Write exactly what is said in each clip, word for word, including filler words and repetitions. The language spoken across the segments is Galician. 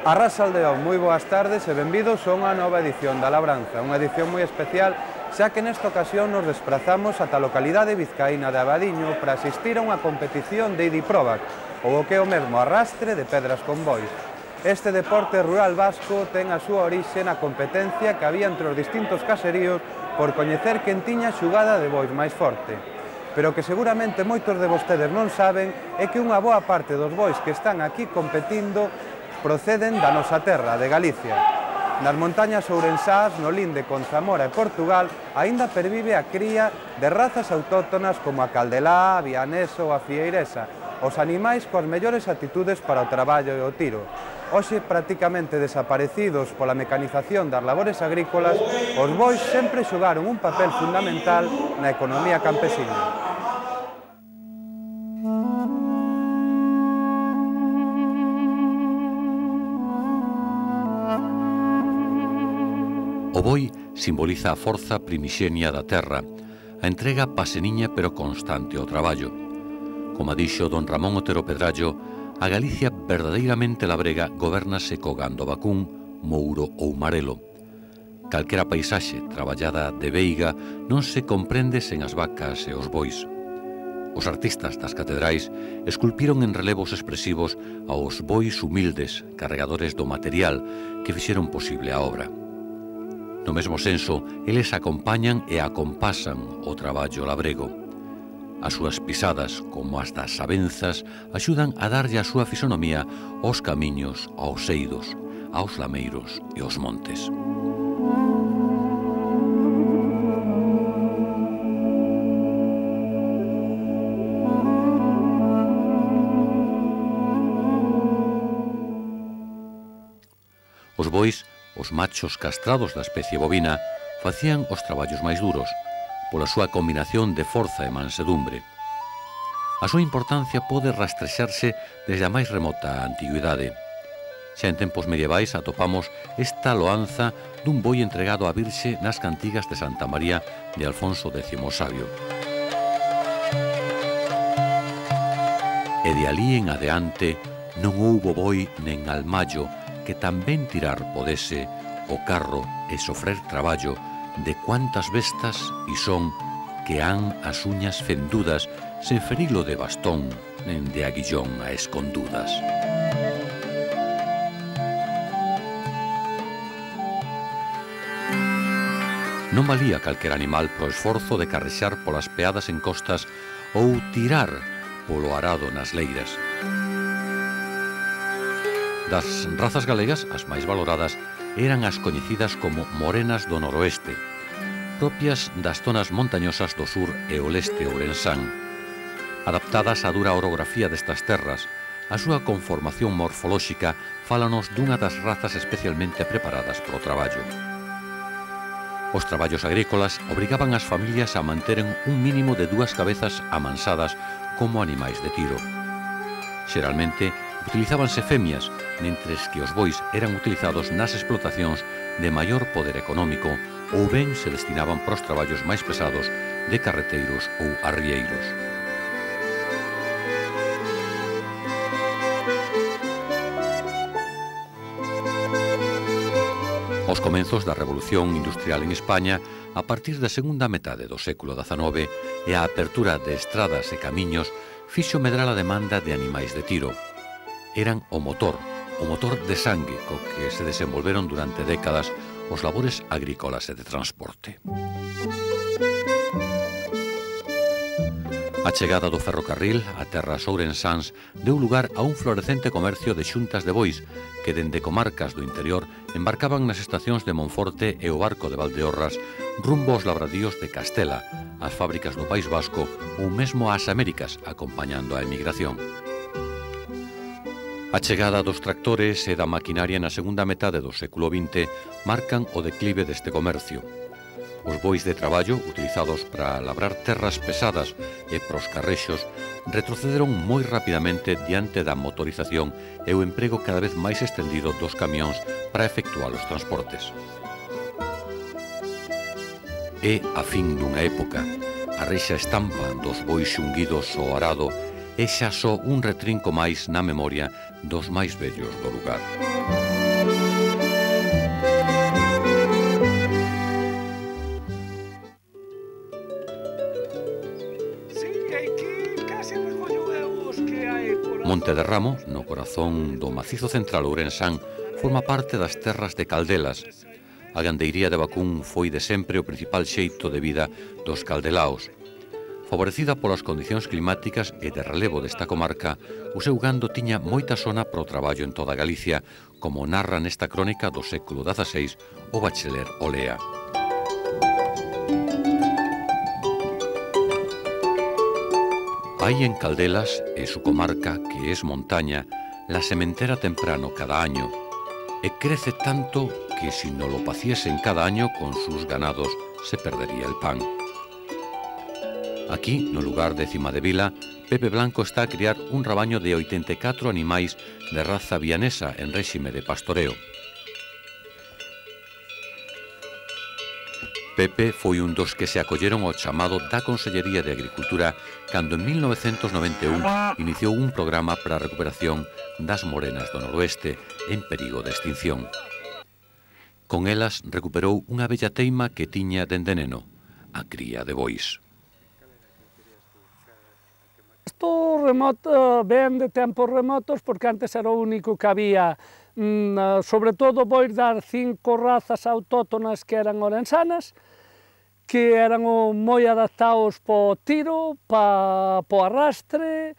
Arrasaldeón, moi boas tardes e benvidos a unha nova edición da Labranza, unha edición moi especial, xa que nesta ocasión nos desplazamos ata a localidade vizcaína de Abadiño para asistir a unha competición de Idiprovac, ou o que é o mesmo arrastre de pedras con bois. Este deporte rural vasco ten a súa orixe na competencia que había entre os distintos caseríos por coñecer quen tiña xugada de bois máis forte. Pero que seguramente moitos de vostedes non saben é que unha boa parte dos bois que están aquí competindo proceden da nosa terra, de Galicia. Nas montañas ourensás, no linde con Zamora e Portugal, aínda pervive a cría de razas autóctonas como a caldelá, a vianesa ou a fieiresa, os animais coas mellores actitudes para o traballo e o tiro. Hoxe, prácticamente desaparecidos pola mecanización das labores agrícolas, os bois sempre xogaron un papel fundamental na economía campesina. O boi simboliza a forza primixenia da terra, a entrega paseniña pero constante ao traballo. Como dixo don Ramón Otero Pedrallo, a Galicia verdadeiramente labrega gobernase co gando vacún, mouro ou marelo. Calquera paisaxe traballada de veiga non se comprende sen as vacas e os bois. Os artistas das catedrais esculpiron en relevos expresivos aos bois humildes, carregadores do material que fixeron posible a obra. No mesmo senso, eles acompañan e acompasan o traballo labrego. As súas pisadas, como as das sabenzas, axudan a darlle a súa fisonomía aos camiños, aos eidos, aos lameiros e aos montes. Os bois, os machos castrados da especie bovina, facían os traballos máis duros, pola súa combinación de forza e mansedumbre. A súa importancia pode rastrexarse desde a máis remota antigüidade. Xa en tempos medievais atopamos esta loanza dun boi entregado á Virxe nas cantigas de Santa María de Alfonso décimo o Sabio. E de alí en adeante non houbo boi nen almallo que tamén tirar podese o carro e sofrer traballo de cuantas bestas e son que han as uñas fendudas sen ferilo de bastón nen de aguillón a escondudas. Non valía calquer animal pro esforzo de carrexar polas peadas en costas ou tirar polo arado nas leiras. Das razas galegas, as máis valoradas eran as coñecidas como morenas do noroeste, propias das zonas montañosas do sur e o leste ourensán. Adaptadas á dura orografía destas terras, a súa conformación morfolóxica fálanos dunha das razas especialmente preparadas para o traballo. Os traballos agrícolas obrigaban as familias a manteren un mínimo de dúas cabezas amansadas como animais de tiro. Xeralmente, utilizábanse femias, mentres que os bois eran utilizados nas explotacións de maior poder económico ou ben se destinaban para os traballos máis pesados de carreteiros ou arrieiros. Aos comenzos da Revolución Industrial en España, a partir da segunda metade do século dezanove e a apertura de estradas e camiños, fixo medrar a demanda de animais de tiro. Eran o motor, o motor de sangue co que se desenvolveron durante décadas os labores agrícolas e de transporte. A chegada do ferrocarril a terras ourensáns deu lugar a un florecente comercio de xuntas de bois que dende comarcas do interior embarcaban nas estacións de Monforte e o barco de Valdeorras rumbo aos labradíos de Castela, ás fábricas do País Vasco ou mesmo ás Américas, acompañando a emigración. A chegada dos tractores e da maquinaria na segunda metade do século vinte marcan o declive deste comercio. Os bois de traballo, utilizados para labrar terras pesadas e pros carrexos, retrocederon moi rapidamente diante da motorización e o emprego cada vez máis estendido dos camións para efectuar os transportes. É a fin dunha época. A reixa estampa dos bois xunguidos ao arado é xa só un retrinco máis na memoria dos máis vellos do lugar. Monte de Ramo, no corazón do macizo central ourensán, forma parte das terras de Caldelas. A gandeiría de vacún foi de sempre o principal xeito de vida dos caldelaos. Favorecida polas condicións climáticas e de relevo desta comarca, o seu gando tiña moita zona para o traballo en toda Galicia, como narra nesta crónica do século dieciséis o bachelor Olea. Hay en Caldelas, e su comarca, que es montaña, la sementera temprano cada año, e crece tanto que si no lo paciesen cada año con sus ganados se perdería el pan. Aquí, no lugar de Cima de Vila, Pepe Blanco está a criar un rabaño de oitenta e catro animais de raza vianesa en réxime de pastoreo. Pepe foi un dos que se acolleron ao chamado da Consellería de Agricultura cando en mil novecentos noventa e un iniciou un programa para a recuperación das morenas do noroeste en perigo de extinción. Con elas recuperou unha bella teima que tiña dende neno, a cría de bois. Isto remoto, ven de tempos remotos porque antes era o único que había, sobre todo vou dar cinco razas autóctonas que eran orensanas, que eran moi adaptados para o tiro, para o arrastre,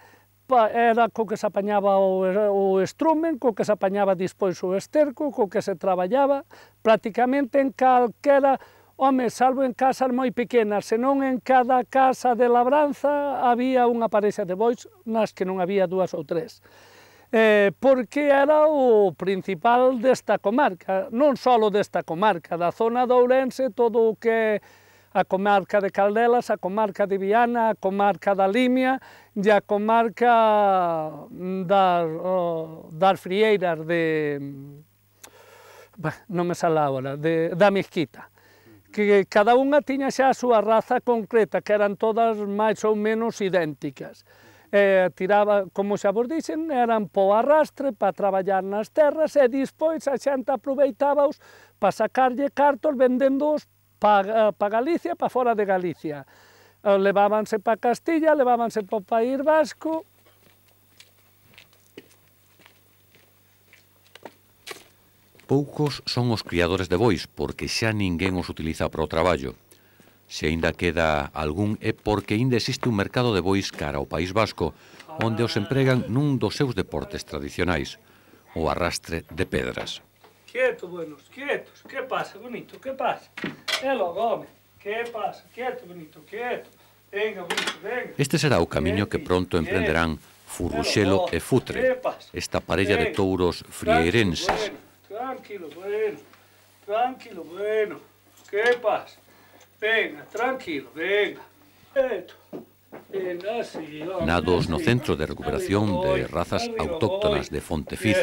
pa, era co que se apañaba o, o estrumen, co que se apañaba despois o esterco, co que se traballaba prácticamente en calquera. Home, salvo en casas moi pequenas, senón en cada casa de labranza había unha parexa de bois nas que non había dúas ou tres. Eh, porque era o principal desta comarca, non só desta comarca, da zona de Ourense, todo o que a comarca de Caldelas, a comarca de Viana, a comarca da Limia e a comarca das, oh, das Frieiras de... Bah, non me sale agora, de, da Mezquita. Que cada unha tiña xa a súa raza concreta, que eran todas máis ou menos idénticas. Eh, tiraba, como xa vos dixen, eran po arrastre, para traballar nas terras, e despois a xente aproveitábaos para sacarlle cartos vendéndoos para pa Galicia, para fora de Galicia. Eh, levábanse para Castilla, levábanse para o País Vasco. Poucos son os criadores de bois, porque xa ninguén os utiliza para o traballo. Se aínda queda algún é porque aínda existe un mercado de bois cara ao País Vasco, onde os empregan nun dos seus deportes tradicionais, o arrastre de pedras. Quieto, buenos, quietos, que pasa, bonito, que pasa? É logo, home, que pasa, quieto, bonito, quieto, venga, bonito, venga. Este será o camiño que pronto emprenderán Furruxelo e Futre, esta parella de touros frieirenses. Tranquilo, bueno, tranquilo, bueno, ¿qué pasa? Venga, tranquilo, venga, esto, venga, así, vamos. Nados no Centro de Recuperación de Razas Autóctonas de Fontefiz,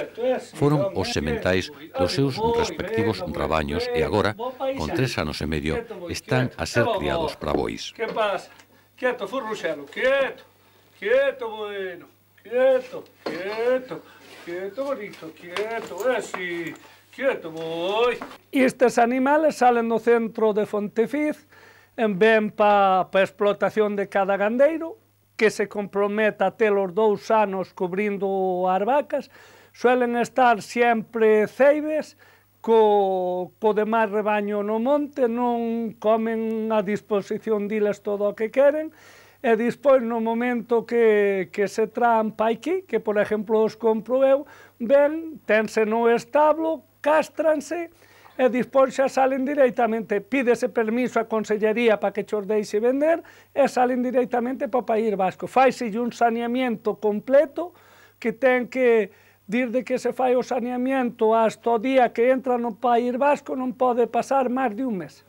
foron os sementais dos seus respectivos rabaños e agora, con tres anos e medio, están a ser criados para bois. ¿Qué pasa? Quieto, Furruxelo, quieto, quieto, bueno, quieto, quieto. Quieto, bonito, quieto, así, quieto, voy. Estes animales salen do centro de Fontefiz, ven para pa explotación de cada gandeiro, que se comprometa a ter os dous anos cubrindo as vacas, suelen estar sempre ceibes, co, co demais rebaño no monte, non comen a disposición diles todo o que queren, e despois no momento que, que se traen pa aquí, que por exemplo os compro eu, ven, tense no establo, castranse, e despois xa salen directamente, pídese permiso a Consellería para que xos deixe vender, e salen directamente para o País Vasco. Faise un saneamiento completo, que ten que, desde que se fai o saneamiento hasta o día que entra no País Vasco, non pode pasar máis de un mes.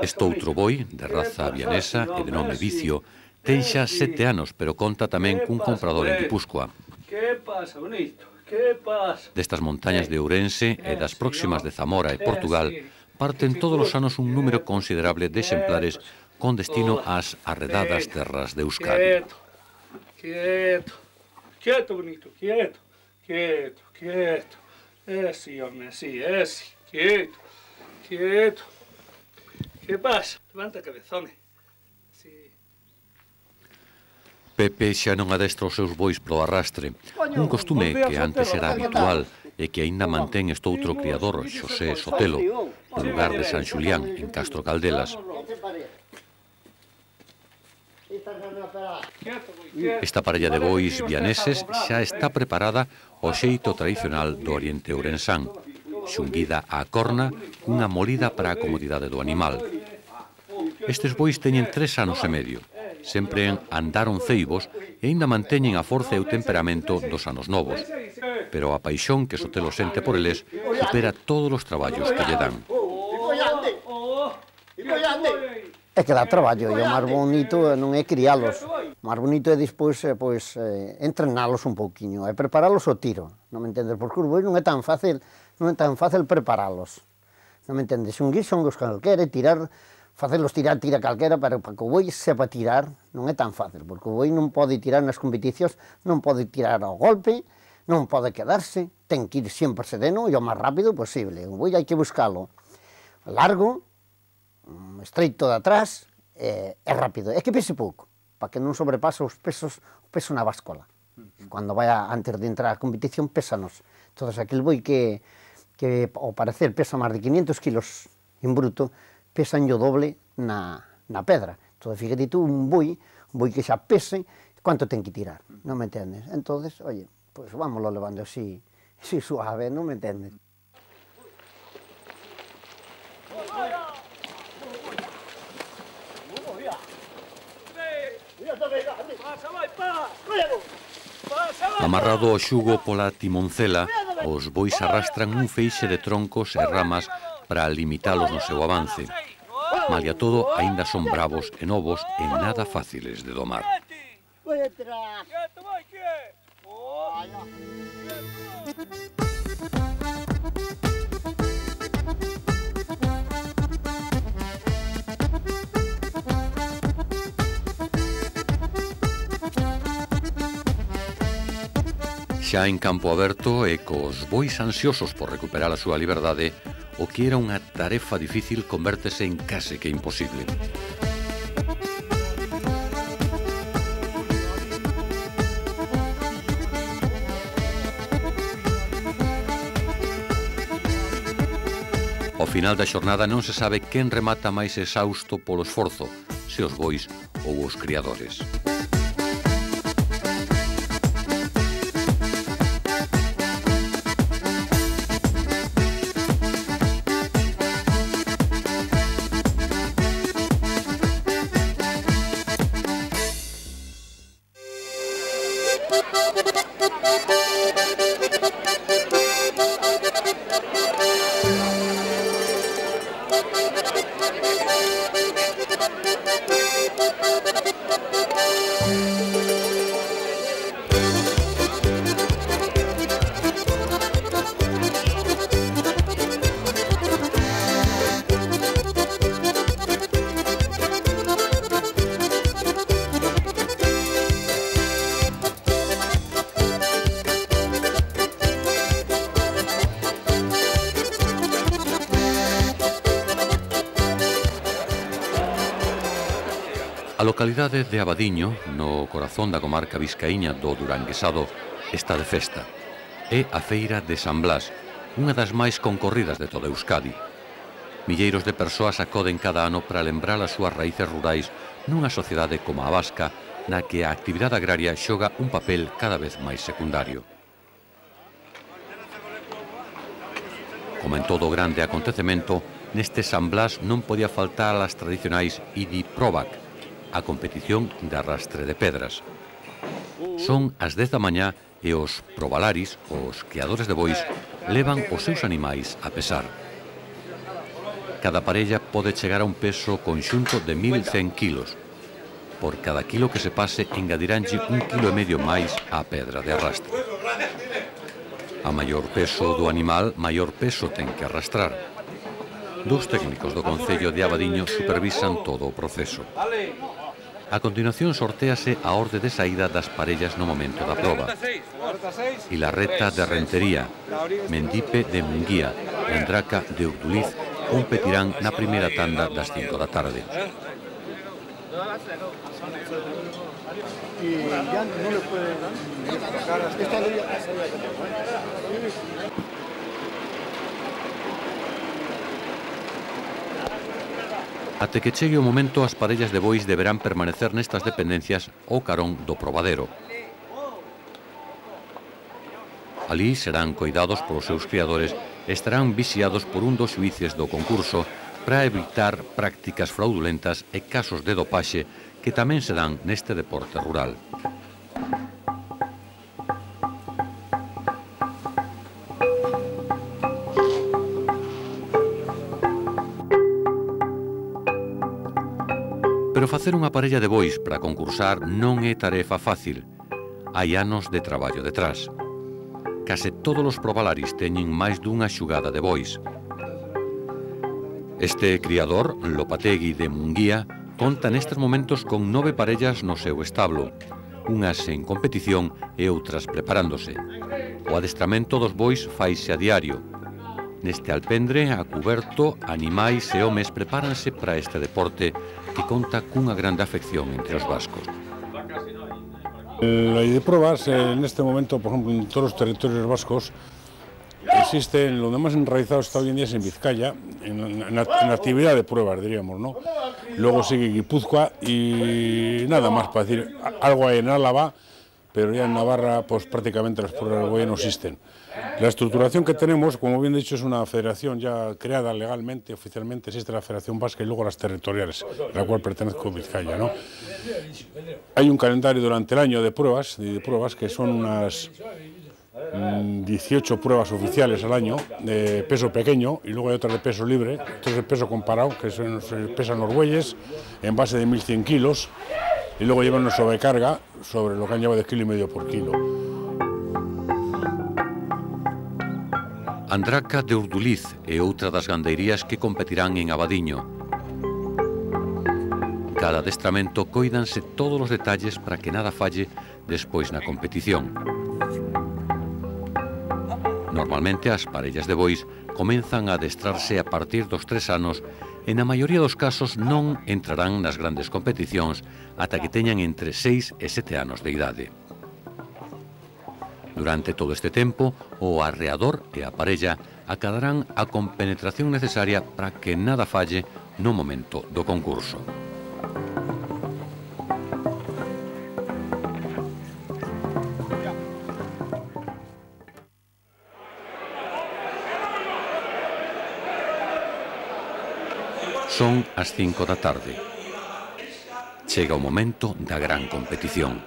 Este outro boi, de raza vianesa e de nome Vicio, ten xa sete anos, pero conta tamén cun comprador en Guipúzcoa. Destas montañas de Ourense e das próximas de Zamora e Portugal, parten todos os anos un número considerable de exemplares con destino ás arredadas terras de Euskadi. Quieto, quieto, bonito, quieto, quieto, quieto, esi, home, esi, esi, quieto. Quieto. ¿Qué pasa? Levanta cabezón. Sí. Pepe xa non adestra os seus bois pro arrastre, un costume que antes era habitual e que aínda mantén estoutro criador, Xosé Sotelo, no lugar de San Xulián, en Castro Caldelas. Esta parella de bois vianeses xa está preparada ao xeito tradicional do oriente ourensán, xunguida á corna, cunha molida para a comodidade do animal. Estes bois teñen tres anos e medio. Sempre andaron ceibos e aínda manteñen a forza e o temperamento dos anos novos. Pero a paixón que Sotelo sente por eles supera todos os traballos que lle dan. É que dá traballo, e o máis bonito non é criálos. O máis bonito é despois pois, eh, entrenalos un pouquiño, é preparalos ao tiro, non me entendes? Porque os bois non é tan fácil, non é tan fácil preparalos, non me entendes? Un guis son os calquera e tirar, facelos tirar, tira calquera, pero para que o boi sepa tirar non é tan fácil, porque o boi non pode tirar nas competicións, non pode tirar ao golpe, non pode quedarse, ten que ir sempre sereno e o máis rápido posible. O boi hai que buscalo largo, estreito de atrás, é, é rápido, é que pese pouco, para que non sobrepase os pesos, o peso na báscola. Cando vai a, antes de entrar á competición, pésanos. Entón, aquel boi que, que ao parecer pesa máis de quinientos kilos en bruto, pesan o doble na, na pedra. Entón, fíjate tú, un boi, un boi que xa pese, quanto ten que tirar, non me entendes? Entón, oye, pois pues, vámoslo levando así, así suave, non me entendes? Amarrado ao xugo pola timoncela, os bois arrastran un feixe de troncos e ramas para limitalos no seu avance. Malia todo, aínda son bravos e novos e nada fáciles de domar. Xa en campo aberto e cos bois ansiosos por recuperar a súa liberdade, o que era unha tarefa difícil convértese en case que imposible. Ao final da xornada non se sabe quen remata máis exausto polo esforzo, se os bois ou os criadores. A localidade de Abadiño, no corazón da comarca vizcaíña do Duranguesado, está de festa. É a Feira de San Blas, unha das máis concorridas de toda Euskadi. Milleiros de persoas acoden cada ano para lembrar as súas raíces rurais nunha sociedade como a vasca, na que a actividade agraria xoga un papel cada vez máis secundario. Como en todo grande acontecemento, neste San Blas non podía faltar as tradicionais Idi Provac, a competición de arrastre de pedras. Son as dez da mañá e os probalaris, os criadores de bois, levan os seus animais a pesar. Cada parella pode chegar a un peso conxunto de mil cen kilos. Por cada kilo que se pase, engadiranlle un kilo e medio máis á pedra de arrastre. A maior peso do animal, maior peso ten que arrastrar. Dous técnicos do Concello de Abadiño supervisan todo o proceso. A continuación sortéase a orde de saída das parellas no momento da proba. Ilarreta de Rentería, Mendipe de Munguía e Endraca de Urduliz competirán na primeira tanda das cinco da tarde. y ya no le puede sacar hasta esta ley. Até que chegue o momento, as parellas de bois deberán permanecer nestas dependencias ao carón do probadero. Alí serán coidados polos seus criadores e estarán vixiados por un dos xuíces do concurso para evitar prácticas fraudulentas e casos de dopaxe que tamén se dan neste deporte rural. Pero facer unha parella de bois para concursar non é tarefa fácil. Hai anos de traballo detrás. Case todos os probalaris teñen máis dunha xugada de bois. Este criador, Lopategui de Munguía, conta nestes momentos con nove parellas no seu establo, unhas en competición e outras preparándose. O adestramento dos bois faise a diario. Neste alpendre, a cuberto, animais e homes prepáranse para este deporte que conta cunha grande afección entre os vascos. La ley de pruebas, en este momento, por ejemplo, en todos los territorios vascos, existe, lo más enraizado está hoy en día es en Vizcaya, en, en, en actividad de pruebas, diríamos, ¿no? Luego sigue Guipúzcoa y nada más para decir, algo hay en Álava, pero ya en Navarra, pues prácticamente las pruebas de bois no existen. La estructuración que tenemos, como bien dicho, es una federación ya creada legalmente, oficialmente existe la Federación Vasca y luego las territoriales, a la cual pertenezco Vizcaya, ¿no? Hay un calendario durante el año de pruebas, de pruebas que son unas dieciocho pruebas oficiales al año de peso pequeño y luego hay otras de peso libre, esto es el peso comparado, que son, se pesan los bueyes en base de mil cien kilos y luego llevan una sobrecarga sobre lo que han llevado de kilo y medio por kilo. Andraca de Urduliz é outra das gandeirías que competirán en Abadiño. Cada adestramento coídanse todos os detalles para que nada falle despois na competición. Normalmente as parellas de bois comenzan a adestrarse a partir dos tres anos e na maioría dos casos non entrarán nas grandes competicións ata que teñan entre seis e sete anos de idade. Durante todo este tempo, o arreador e a parella acadarán a compenetración necesaria para que nada falle no momento do concurso. Son as cinco da tarde. Chega o momento da gran competición.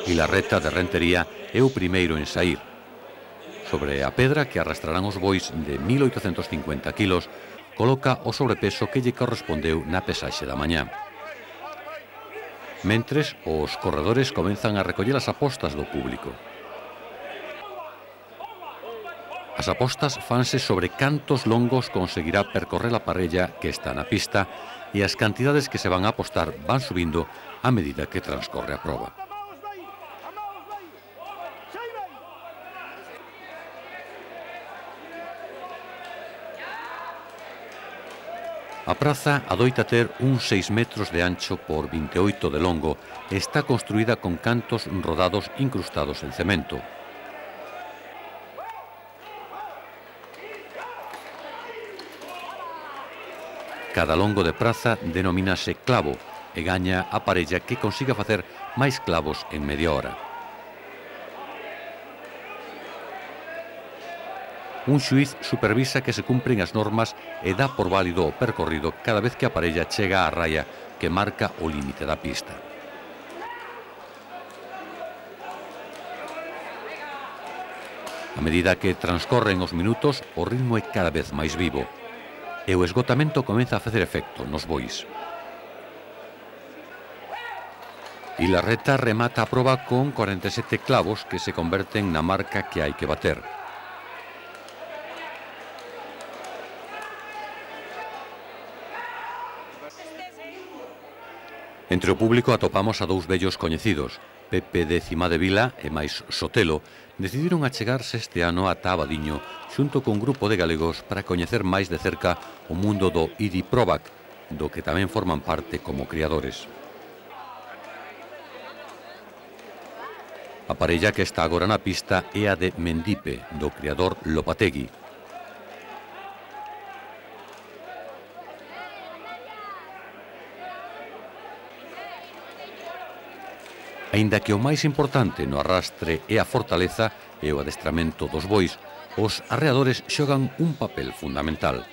Ilarreta de Rentería é o primeiro en saír. Sobre a pedra que arrastrarán os bois de mil oitocentos cincuenta kilos, coloca o sobrepeso que lle correspondeu na pesaxe da mañá. Mentres, os corredores comenzan a recoller as apostas do público. As apostas fanse sobre cantos longos conseguirá percorrer a parella que está na pista e as cantidades que se van a apostar van subindo a medida que transcorre a proba. A praza adoita ter uns seis metros de ancho por vinte e oito de longo e está construída con cantos rodados incrustados en cemento. Cada longo de praza denomínase clavo e gaña a parella que consiga facer máis clavos en media hora. Un xuiz supervisa que se cumpren as normas e dá por válido o percorrido cada vez que a parella chega á raya que marca o límite da pista. A medida que transcorren os minutos, o ritmo é cada vez máis vivo e o esgotamento comeza a facer efecto nos bois. Ilarreta remata a proba con cuarenta e sete clavos que se converten na marca que hai que bater. Entre o público atopamos a dous vellos coñecidos. Pepe de Cimadevila e máis Sotelo decidiron achegarse este ano ata Abadiño xunto con un grupo de galegos para coñecer máis de cerca o mundo do Idi Provac, do que tamén forman parte como criadores. A parella que está agora na pista é a de Mendipe, do criador Lopategui. Aínda que o máis importante no arrastre é a fortaleza e o adestramento dos bois, os arreadores xogan un papel fundamental.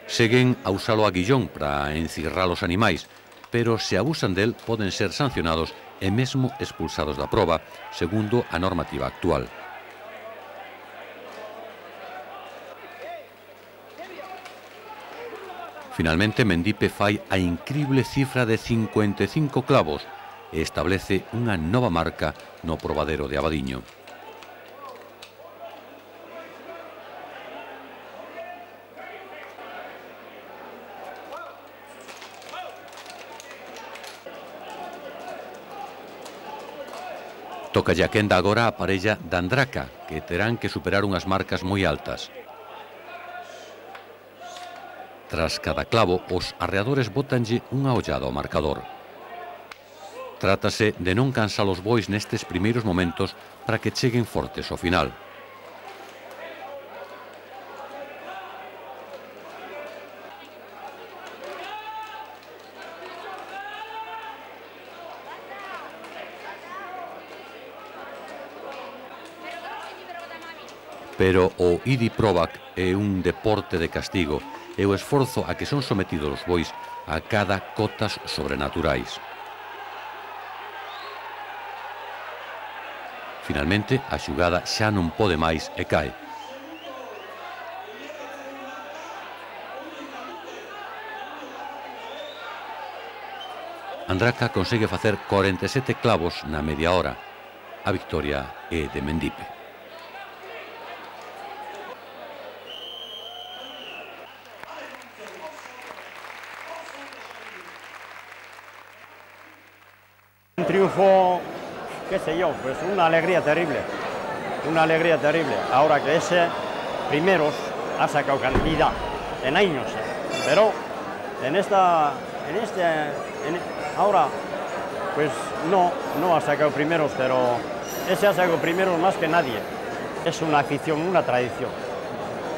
Seguen a usalo a guillón para encirrar os animais, pero se abusan del poden ser sancionados e mesmo expulsados da proba, segundo a normativa actual. Finalmente, Mendipe fai a incrible cifra de cincuenta e cinco clavos e establece unha nova marca no probadero de Abadiño. Toca ya quenda agora a parella de Andraca, que terán que superar unhas marcas moi altas. Tras cada clavo, os arreadores botanlle unha ollada ao marcador. Trátase de non cansar os bois nestes primeiros momentos para que cheguen fortes ao final. Pero o idi probac é un deporte de castigo e o esforzo a que son sometidos os bois a cada cotas sobrenaturais. Finalmente, a xugada xa non pode máis e cae. Andraca consegue facer corenta e sete clavos na media hora. A victoria é de Mendipe. Un triunfo, qué sé yo, pues una alegría terrible, una alegría terrible. Ahora que ese primeros ha sacado cantidad en años, pero en esta, en este, en, ahora pues no, no ha sacado primeros, pero ese ha sacado primeros más que nadie. Es una afición, una tradición.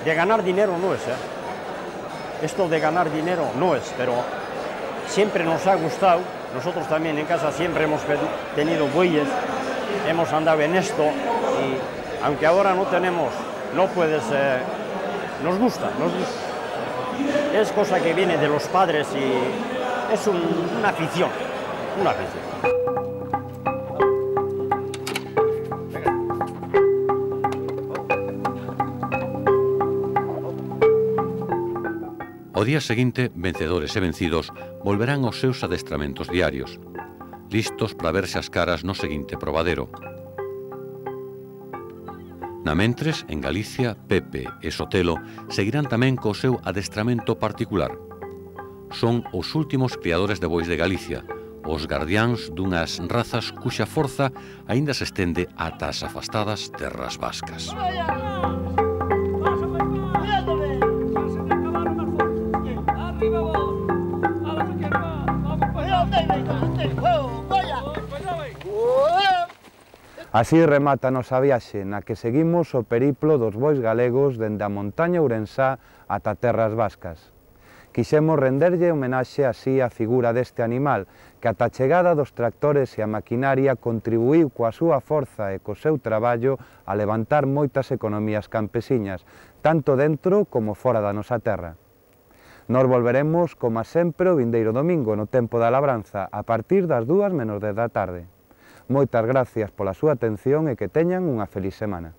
De ganar dinero no es, ¿eh? Esto de ganar dinero no es, pero siempre nos ha gustado. Nosotros también en casa siempre hemos tenido bueyes, hemos andado en esto y aunque ahora no tenemos, no puedes, eh, nos gusta, nos gusta. Es cosa que viene de los padres y es un, una afición, una afición. O día seguinte, vencedores e vencidos volverán aos seus adestramentos diarios, listos para verse as caras no seguinte probadero. Namentres, en Galicia, Pepe e Sotelo seguirán tamén co seu adestramento particular. Son os últimos criadores de bois de Galicia, os gardiáns dunhas razas cuxa forza aínda se estende ata as afastadas terras vascas. Así remata a nosa viaxe, na que seguimos o periplo dos bois galegos dende a montaña ourensá ata terras vascas. Quixemos renderlle homenaxe así á figura deste animal, que ata a chegada dos tractores e a maquinaria contribuíu coa súa forza e co seu traballo a levantar moitas economías campesiñas, tanto dentro como fora da nosa terra. Nos volveremos, como sempre, o vindeiro domingo no tempo da labranza, a partir das dúas menos dez da tarde. Moitas gracias pola súa atención e que teñan unha feliz semana.